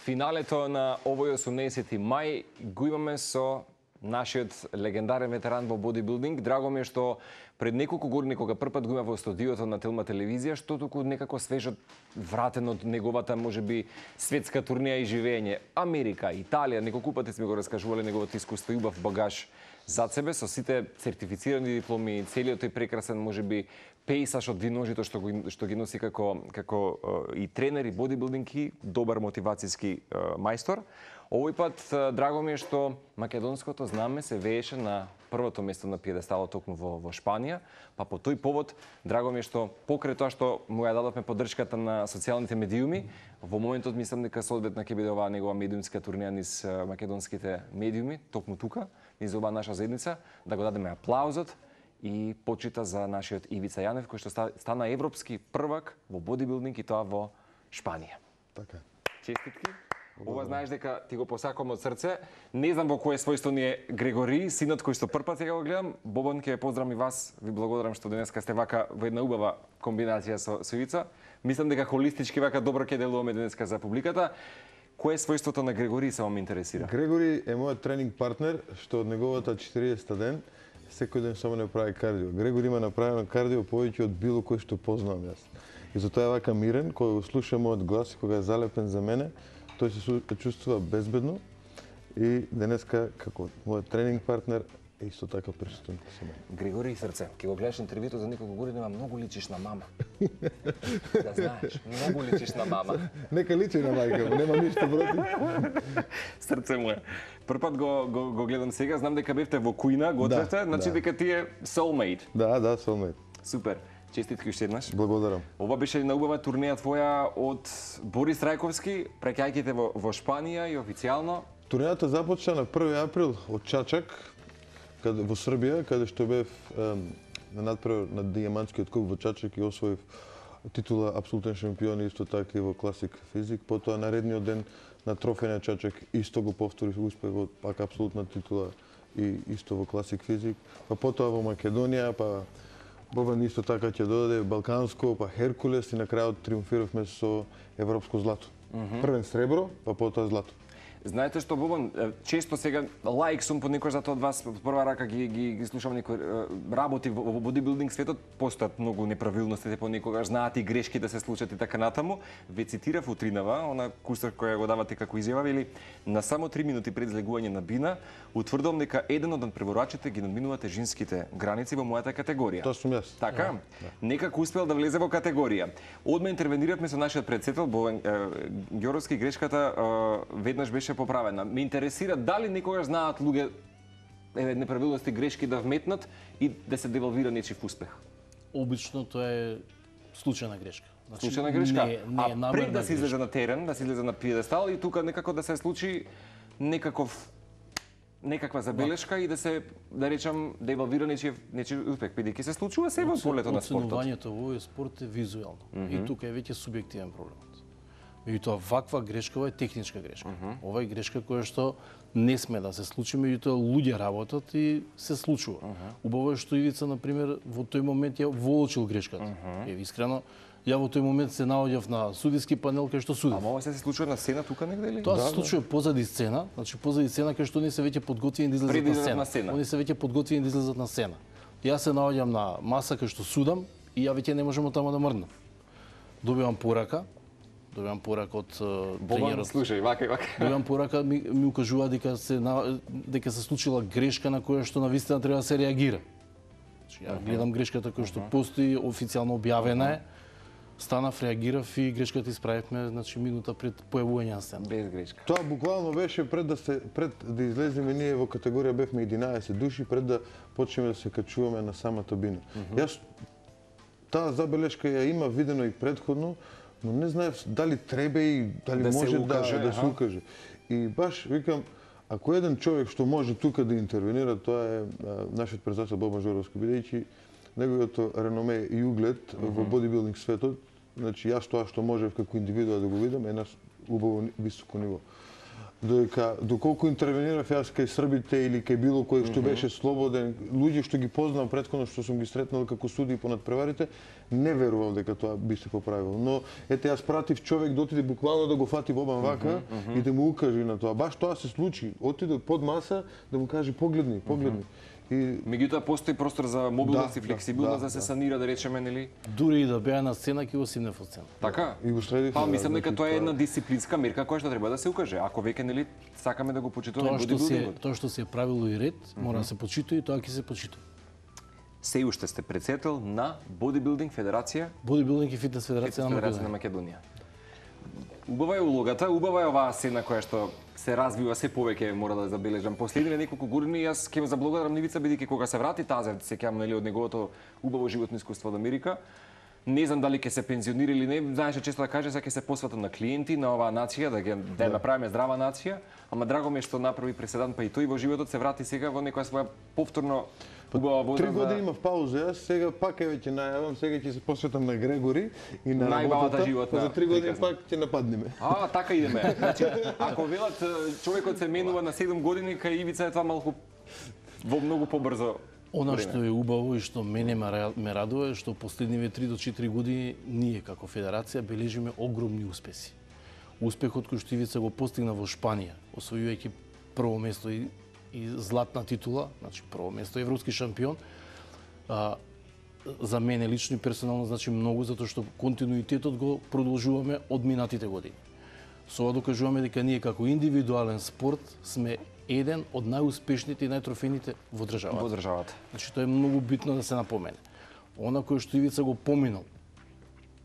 Финалето на овој 18 мај го имаме со нашиот легендарен ветеран во бодибилдинг. Драго ми е што пред неколку години кога првпат го има во студиото на Телма телевизија, што туку некако свежот вратен од неговата можеби светска турнеја и живење. Америка, Италија, неколку пати сме го раскажувале неговото искуство и убав багаж зад себе со сите сертифицирани дипломи, целиот тој прекрасен можеби пејсаж од двиножито што ги носи како и тренер и бодибилдинг и добар мотивацијски мајстор. Овој пат драго ми е што македонското знаме се вееше на првото место на пиедесталот токму во Шпанија, па по тој повод драго ми е што покрај тоа што му ја дадовме поддршката на социјалните медиуми, во моментот мислам дека соодветна ќе биде оваа негова медиумска турнеја низ македонските медиуми, токму тука, низ оваа наша заедница, да го дадеме аплаузот и почита за нашиот Ивица Јанев, кој што стана европски првак во бодибилдинг и тоа во Шпанија. Така. Честитки. Ова знаеш дека ти го посакувам од срце. Не знам во кое својство ни е Грегори, синот кој што првпат сега го гледам. Бобан, ќе поздравам и вас. Ви благодарам што денеска сте вака во една убава комбинација со Ивица. Мислам дека холистички вака добро ќе делуваме денеска за публиката. Кое е својството на Грегори само ме интересира? Грегори е мојот тренинг партнер, што од неговата 40-та ден секој ден само не прави кардио. Грегори има направено кардио повеќе од било кој што познавам јас. И затоа е вака мирен, кога го слуша мојот глас и кога е залепен за мене, тој се чувствува безбедно и денеска како мојот тренинг партнер е исто така присутен со мене. Григори срце, ќе го гледаш интервјуто за неколку години, многу личиш на мама. Да знаеш, многу личиш на мама. Нека личи на мајка, нема ништо против. Срце му е. Првпат го гледам сега, знам дека бевте во кујна, гответе, значи дека ти е soulmate. Да, soulmate. Супер. Честитки уште еднаш. Благодарам. Ова беше на убава турнеја твоја од Борис Трајковски, преќајките во Шпанија и официјално. Турнејата започна на 1 април од Чачак, во Србија, каде што бев на надпревар на дијамантскиот куп во Чачак и освоив титула апсолутен шампион исто така и во класик физик. Потоа наредниот ден на трофеј на Чачак исто го повторив успехот, пак апсолутна титула и исто во класик физик. Па потоа во Македонија, па Бобан исто така ќе додаде Балканско, па Херкулес и на крајот триумфиравме со европско злато. Првен сребро, па потоа злато. Знаете што, Бобан, често сега лаик сум по некој затоа од вас од прва рака ги слушам некои работи во бодибилдинг светот, постојат многу неправилности понекогаш, знаат и грешки да се случат и така натаму. Ве цитирав утринава, она курсор која го давате како изјава, вели на само 3 минути пред излегување на бина, утврдувам дека еден од надпреварачите ги надминувате женските граници во мојата категорија. Тоа сум јас. Така? Некако успел да влезе во категорија. Одма интервениравме со нашиот претседател Бобан Ѓоровски, грешката веднаш беше поправена. Ме интересира дали некогаш знаат луѓе неправилности, грешки да вметнат и да се девалвира нечив успех. Обично тоа е случајна грешка. Значи, случајна грешка. Не пред да се излезе на терен, да се излезе на пиедестал и тука некако да се случи некаква забелешка и да се, да речам, девалвира нечив успех, бидејќи се случува се во полето на спортот. Оценувањето во овој спорт е визуелно и тука е веќе субјективен проблемот. Меѓутоа, ваква грешка е техничка грешка. Ова е грешка која што не сме да се случи, меѓутоа луѓе работат и се случува. Убаво е што Ивица, например, во тој момент ја воочил грешката. Искрено, ја во тој момент се наоѓав на судиски панел кај што судев. Ама ова се случува на сцена тука негде или? Тоа се случува позади сцена, значи позади сцена кај што они се веќе подготвени да излезат на сцена. Они се веќе подготвени да излезат на сцена. Јас се наоѓам на маса кај што судам и ја веќе не можам таму да мрднам. Добивам порака од тренерот. Слушај, вака и вака. Добивам порака, ми укажува дека се случила грешка на која што навистина треба да се реагира. Значи, ја гледам грешката која што постои, официјално објавена е. Станав, реагирав и грешката исправивме, значи минута пред појавување на сцена. Без грешка. Тоа буквално беше пред да излеземе ние во категорија бевме 11 души, пред да почнеме да се качуваме на самата бина. Јас таа забелешка ја има видено и предходно, но не знаев дали треба и дали да може да се укаже. И баш викам, ако еден човек што може тука да интервенира, тоа е нашиот председател Бобан Ѓоровски, бидејќи неговото реноме и углед во бодибилдинг светот, значи јас тоа што можев како индивидуа да го видам е на убаво високо ниво. доколку интервенирав јас кај србите или кај било кој што беше слободен, луѓе што ги познавам претходно, што сум ги сретнал како судии по надпреварите, не верувам дека тоа би се поправило. Но ете јас пратив човек да отиде буквално да го фати Бобан вака и да му укаже на тоа. Баш тоа се случи. Отиде под маса да му каже погледни. И меѓутоа постои простор за мобилност и флексибилност да се санира, да речеме, нели? Дури и да беа на сцена, ќе го симнев од сцена. Така? И го средив. Па мислам дека тоа е една дисциплинска мерка која што треба да се укаже. Ако веќе нели сакаме да го почитуваме бодибилдингот. Тоа што се е правило и ред, мора да се почитува и тоа ќе се почитува. Се уште сте председател на Бодибилдинг Федерација? Бодибилдинг и фитнес федерација на Македонија. Убава е улогата, убава е оваа сцена која што се развива се повеќе, мора да забележам. Последниве неколку години јас ќе го заблагодарам Нивица бидејќи кога се врати Тазев, сеќавам нели од неговото убаво животно искуство од Америка. Не знам дали ќе се пензионира или не, знаеше често да каже дека ќе се посветам на клиенти, на оваа нација, да направиме здрава нација, ама драго ми е што направи преседан, па и тој во животот се врати сега во некоја своја повторно убава возраст. 3 години имав пауза, јас сега пак е веќе најавам, сега ќе се посветам на Грегори и на најбавата животна. За 3 години пак ќе нападнеме. Така идеме. Значи, ако велат човекот се менува на 7 години, кај Ивица е тоа малку во многу побрзо. Она што е убаво и што мене ме радува е што последниве 3 до 4 години ние како федерација бележиме огромни успеси. Успехот кој што Ивица го постигна во Шпанија, освојувајќи прво место и златна титула, значи прво место европски шампион, за мене лично и персонално значи многу затоа што континуитетот го продолжуваме од минатите години. Со ова докажуваме дека ние како индивидуален спорт сме еден од најуспешните и најтрофените во државата. Значи тоа е многу битно да се напомене. Она кој што Ивица го поминал,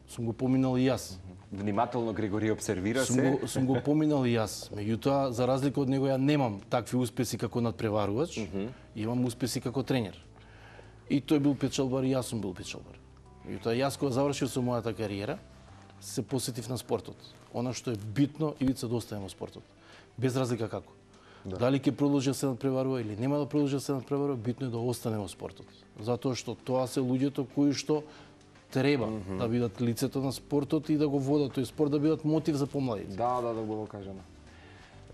сум го поминал и јас. Внимателно Григори обсервира се. Сум го поминал и јас. Меѓутоа, за разлика од него, ја немам такви успеси како надпреварувач, имам успеси како тренер. И тој бил печалбар и јас сум бил печалбар. Меѓутоа, јас кога завршив со мојата кариера, се посетив на спортот. Она што е битно, Ивица да остане во спортот. Без разлика како. Дали ќе продолжи да се надпреварува или нема да продолжи да се надпреварува, битно е да остане во спортот. Затоа што тоа се луѓето кои што треба да бидат лицето на спортот и да го водат тој спорт, да бидат мотив за помладите. Да го кажано.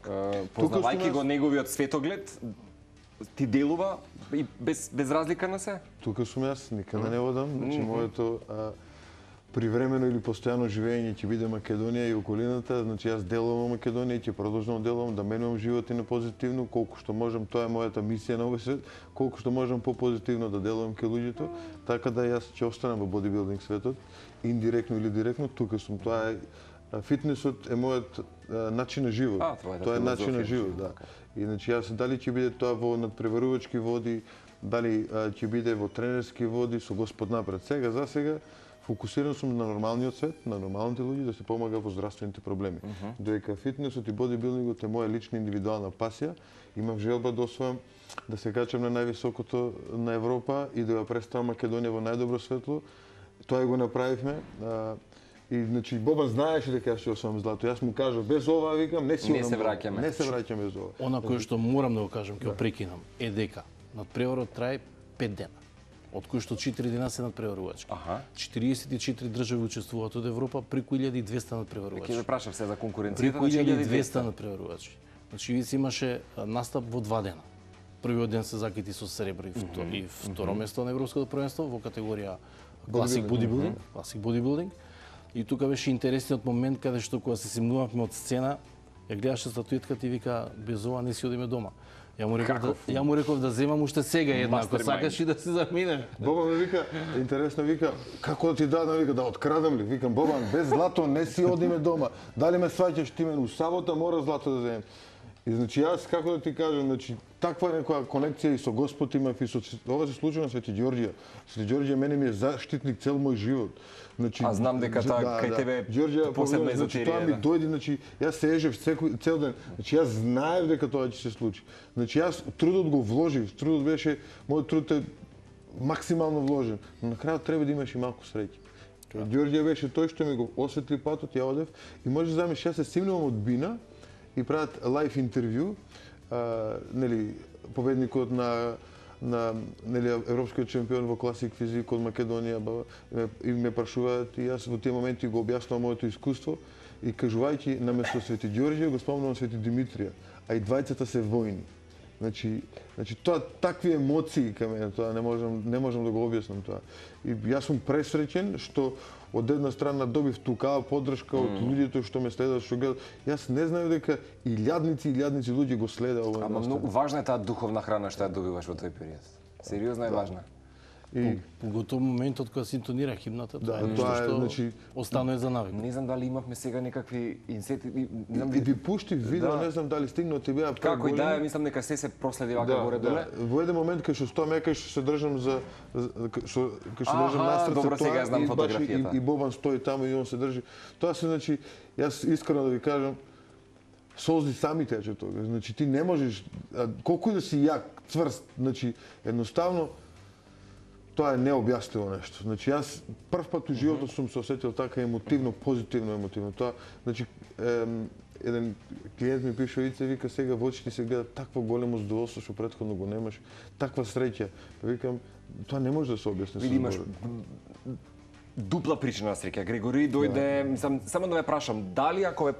Познавајќи го неговиот светоглед, ти делува и без разлика на се? Тука сум јас, никаде не одам, значи моето привремено или постојано живење ќе биде Македонија и околината, значи јас делувам во Македонија и ќе продолжам делувам да менувам живот и на позитивно, колку што можам, тоа е мојата мисија на овој свет, колку што можам попозитивно да делувам кај луѓето, така да јас ќе останам во бодибилдинг светот, индиректно или директно, тука сум. Тоа е фитнесот е мојот начин на живот. Тоа е начин на живот, да. И значи јас дали ќе биде тоа во надпреварувачки води, дали ќе биде во тренерски води со Господ напред. Сега за сега фокусиран сум на нормалниот свет, на нормалните луѓе да се помага во здравствените проблеми. Додека фитнесот и бодибилдингот е моја лична индивидуална пасија, имав желба да освојам да се качам на највисокото на Европа и да ја представам Македонија во најдобро светло. Тоа го направивме. И значи Бобан знаеше дека јас ќе освојам злато. Јас му кажав без ова, викам, не се враќаме. Не се враќаме без ова. Она кое што морам да го кажам, ќе го прекинам, е дека надпреварот трае 5 дена, од кои што 4 дена се надпреварувачки. 44 држави учествуваат од Европа, преку 1200 надпреварувачки. Ќе ве прашав се за конкуренцијата, преку 1200 надпреварувачки. Значи Ивица имаше настап во 2 дена. Првиот ден се закити со сребро и второ место на европското првенство во категорија класик бодибилдинг. И тука беше интересниот момент каде што кога се симнувавме од сцена, ја гледаше статуетката и вика без ова не си одиме дома. Ја му реков да земам уште сега една, ако сакаш и да се замине. Бобан ми вика, интересно вика, како да ти дадам, вика, да открадам ли? Викам, Бобан, без злато не си одиме дома. Дали ме сваќаш ти мене, у сабота мора злато да земем. И значи јас, како да ти кажам, значи таква некоја конекција и со Господ имав и со ова се случи на Свети Ѓорѓија. Свети Ѓорѓија мене ми е заштитник цел мој живот. Значи, знам дека тоа кај тебе посебна езотерија. Тоа ми дојде, значи јас се ежев цел ден. Значи јас знаев дека тоа ќе се случи. Значи јас трудот го вложив, трудот беше, мојот труд е максимално вложен. Но на крајот треба да имаш и малку среќа. Ѓорѓија беше тој што ми го осветли патот, ја одев и можеш да замислиш, јас се симнувам од Бина и прават лайв интервју, нели победникот на нели европскиот шампион во класик физик од Македонија и ме прашуваат и јас во тие моменти го објаснувам моето искуство и кажувајќи наместо Свети Ѓорѓе го спомнувам Свети Димитрија, а и двајцата се војни. Значи тоа такви емоции кај мене, тоа не можам да го објаснам тоа. И јас сум пресреќен што од една страна добив тукава поддршка од луѓето што ме следат, што гледат. Јас не знаев дека илјадници луѓе го следат овој. Ама многу важна е таа духовна храна што ја добиваш во тој период. Сериозно е важна. И поготово моментот кога се интонира химната, тоа е нешто што останува за навик. Не знам дали имавме сега некакви инсети, не знам ви пуштив видео, не знам дали стигнува ти беа како и да, мислам дека се проследи вака горе доле. Во еден момент кај што стоам кај што се држам настрад добро, сега знам фотографијата. И Бобан стои таму и он се држи. Тоа се, значи, јас искрено да ви кажам, солзи сами тече тога. Значи ти не можеш, колку и да си јак, цврст, значи едноставно тоа е необјаснимо нешто. Значи јас прв пат у животот сум се осетил така емотивно, позитивно емотивно. Тоа, значи еден клиент ми пише Ице, вика сега во очите се гледа такво големо задоволство што претходно го немаш, таква среќа. Викам, тоа не може да се објасни. Види, имаш дупла причина на среќа. Грегори дојде, мислам, само да ве прашам, дали ако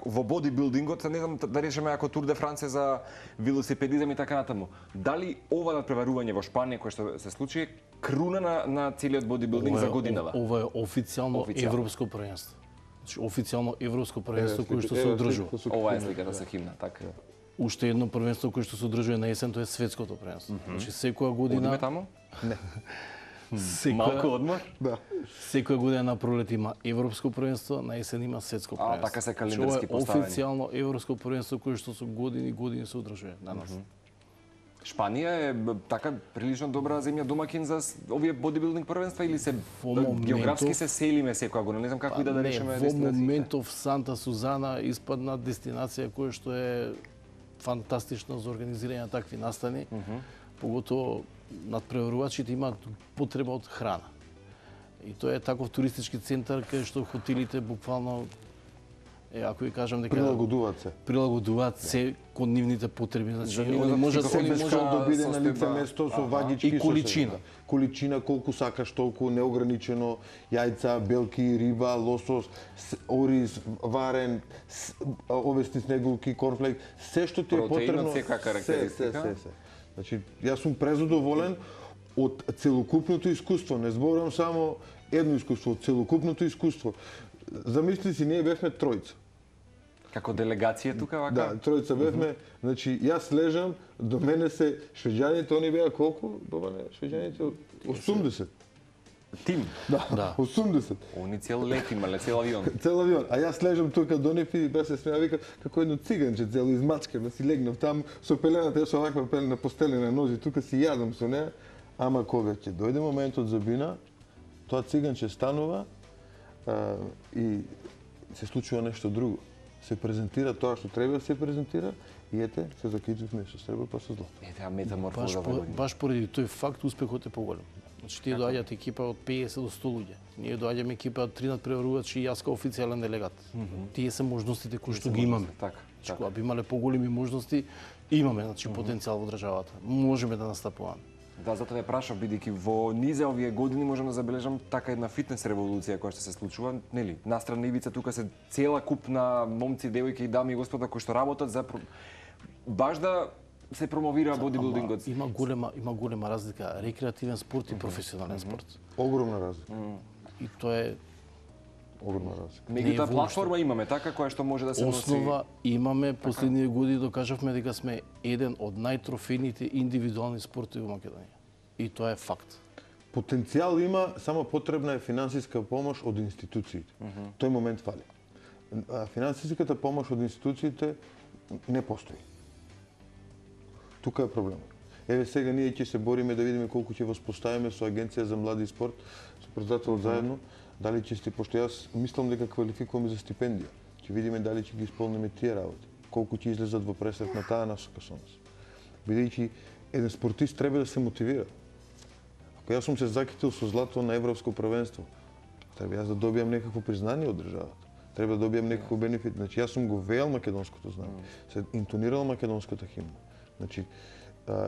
во бодибилдингот, не знам да речеме ако Тур де Франце за велосипедизам и така натаму, дали ова надпреварување во Шпанија кое што се случи круна на целиот бодибилдинг за годинава? Ова е официјално европско првенство. Значи официјално европско првенство кое што се одржува. Ова е сликата со химна, така. Уште едно првенство кое што се одржува на есен, тоа е светското првенство. Значи секоја година. Одиме таму? Не. Малку одмор? Да. Секоја година на пролет има европско првенство, на есен има светско првенство. Така се календарски поставени. Официјално европско првенство кое што со години се одржува данас. Шпанија е така прилично добра земја домакин за овие бодибилдинг првенства или се географски се селиме секоја година? Не знам како и да решиме дестинациите. Во моментов Санта Сузана испадна дестинација која што е фантастична за организирање на такви настани. Поготово надпреварувачите имаат потреба од храна. И тоа е таков туристички центар кај што хотелите буквално ако ви кажам дека прилагодуваат се кон нивните потреби, значи они може да биде на лице место со ваѓички и количина. Количина колку сакаш толку, неограничено, јајца, белки, риба, лосос, ориз, варен, овесни снегулки, корнфлек, се што ти е потребно. Се. Значи, јас сум презадоволен од целокупното искуство. Не зборувам само едно искуство, од целокупното искуство. Замисли си, ние бевме тројца. Како делегација тука вака? Да, тројца бевме. Значи, јас лежам, до мене се швеđаните, они беа колку? Бабане, швеđаните 80. Тим? Да, 80. Они цел лет имале, цел авион. Цел авион. А јас лежам тука до нив и бе се смеа, вика, како едно циганче, цело измачкано, си легнав там со пелената, јас оваква пелена постелена нози, тука си јадам со неа. Ама кога ќе дојде моментот за бина, тоа циганче станува и се случува нешто друго. Се презентира тоа што треба да се презентира и ете, се заклучивме со сребро па со злато. Ете, метаморфоза. Баш поради тој факт успехот е поголем. Значи тие доаѓаат екипа од 50 до 100 луѓе. Ние доаѓаме екипа од 3 надпреварувачи и јас како официјален делегат. Тие се можностите кои што ги имаме. Така. Кога би имале поголеми можности, имаме значи потенцијал во државата. Можеме да настапуваме. Да, затоа ве прашав, бидејќи во низа овие години можам да забележам така една фитнес револуција која што се случува, нели? Настрана ивица тука се цела куп на момци, девојки и дами и господа кои што работат за баш да се промовира бодибилдингот. Има голема разлика рекреативен спорт и професионален спорт. Огромна разлика. И тоа е огромна разлика. Меѓутоа платформа имаме така која што може да се носи. Основа имаме, последниве години докажавме дека сме еден од најтрофејните индивидуални спортови во Македонија. И тоа е факт. Потенцијал има, само потребна е финансиска помош од институциите. Тој момент фали. Финансиската помош од институциите не постои. Тука е проблемот. Еве сега ние ќе се бориме да видиме колку ќе воспоставиме со Агенција за млади и спорт, со председателот заедно, дали ќе пошто јас мислам дека квалификуваме за стипендија. Ќе видиме дали ќе ги исполниме тие работи. Колку ќе излезат во пресек на таа насока со нас. Бидејќи еден спортист треба да се мотивира. Ако јас сум се закитил со злато на европско првенство, треба јас да добијам некакво признание од државата. Треба да добијам некакво бенефит. Значи јас сум го веел македонското знание. Се интонирал македонската химна. Значи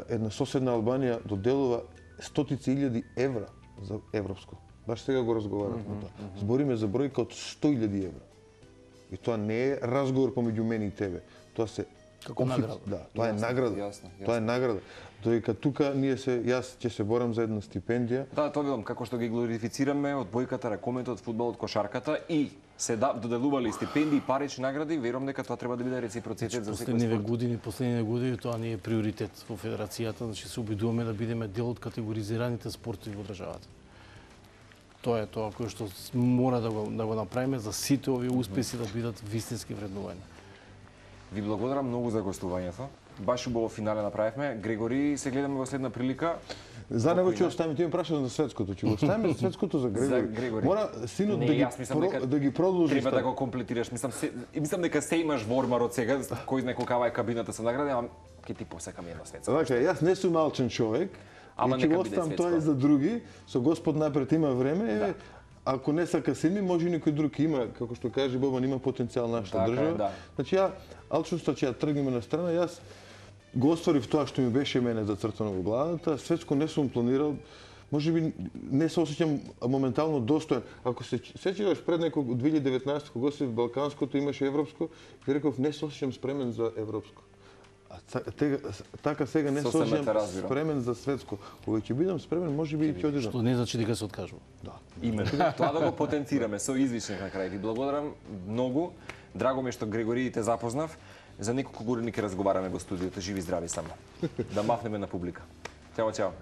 една соседна Албанија доделува стотици илјади евра за европско. Баш сега го разговаравме тоа. Збориме за бројка од 100.000 евра. И тоа не е разговор помеѓу мене и тебе. Тоа се Како награда. Да, тоа е награда. Јасно. Тоа е награда. Додека тука јас ќе се борам за една стипендија. Да, тоа видам како што ги глорифицираме од бојката, ракометот, фудбалот, кошарката и се доделували стипендии, парични награди, верувам дека тоа треба да биде реципроцитет за секој спорт. Последниве години тоа не е приоритет во федерацијата, значи се обидуваме да бидеме дел од категоризираните спортови во државата. Тоа е тоа кое што мора да го направиме за сите овие успеси да бидат вистински вреднувани. Ви благодарам многу за гостувањето. Баш убаво финале направивме. Грегори, се гледаме во следна прилика. За него ќе оставиме, ти ме прашаш за светското, ќе го оставиме за светското за Грегори. За Грегори. Мора синот да ги продолжи. Треба да го комплетираш. Мислам дека се имаш во ормарот сега, кој знае колкава е кабината со награди, ама ќе ти посекам една светска. Така, јас не сум алчен човек. Ама ќе го оставам тоа и за други. Со Господ напред има време. Да. Ако не сака сини, може и некој друг има, како што каже Бобан, има потенцијал нашата држава. Да. Значи алчноста ќе ја тргнеме на страна. Јас го остварив тоа што ми беше мене зацртано во главата. Светско не сум планирал. Може би не се осеќам моментално достоен. Ако се сеќаваш пред некој 2019 кога се балканското имаше европско, ви реков не се осеќам спремен за европско. Така сега не се осеќам спремен за светско. Кога ќе бидам спремен, може би и ќе одидам. Што не значи дека се откажува. Да. Именно. Тоа да го потенцираме со извичник на крај. Ви благодарам многу. Драго ми е што Грегори те запознав. За неколку години ќе разговараме во студиото. Живи здрави само. Да махнеме на публика. Чао, чао.